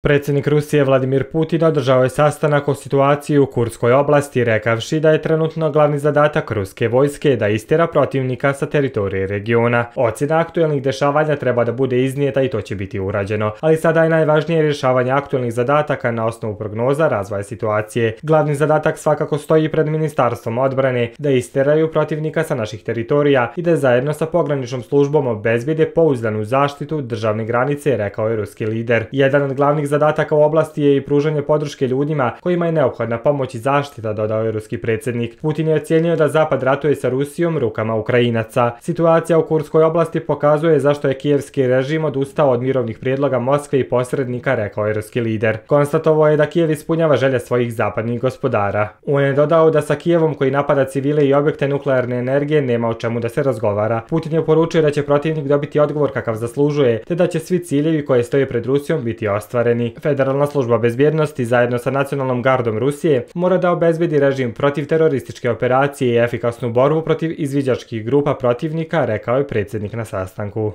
Predsjednik Rusije Vladimir Putin održao je sastanak o situaciji u Kurskoj oblasti, rekavši da je trenutno glavni zadatak ruske vojske da istjera protivnika sa teritorije regiona. Ocjena aktuelnih dešavanja treba da bude iznijeta i to će biti urađeno, ali sada je najvažnije rješavanje aktuelnih zadataka na osnovu prognoza razvoja situacije. Glavni zadatak svakako stoji pred Ministarstvom odbrane da istjeraju protivnika sa naših teritorija i da zajedno sa pograničnom službom obezbijede pouzdanu zaštitu državne granice, rekao je ruski lider. Jedan od glavnih zadataka u oblasti je i pružanje podrške ljudima kojima je neophodna pomoć i zaštita, dodao je ruski predsjednik. Putin je ocijenio da Zapad ratuje sa Rusijom rukama Ukrajinaca. Situacija u Kurskoj oblasti pokazuje zašto je kijevski režim odustao od mirovnih prijedloga Moskve i posrednika, rekao je ruski lider. Konstatovao je da Kijev ispunjava želje svojih zapadnih gospodara. On je dodao da sa Kijevom koji napada civile i objekte nuklearne energije nema o čemu da se razgovara. Putin je poručio da će protivnik dobiti odgovor kakav zaslužuje, te da će svi ciljevi koji stoje pred Rusijom biti ostvareni. Federalna služba bezbjednosti zajedno sa nacionalnom gardom Rusije mora da obezbedi režim protiv terorističke operacije i efikasnu borbu protiv izviđačkih grupa protivnika, rekao je predsjednik na sastanku.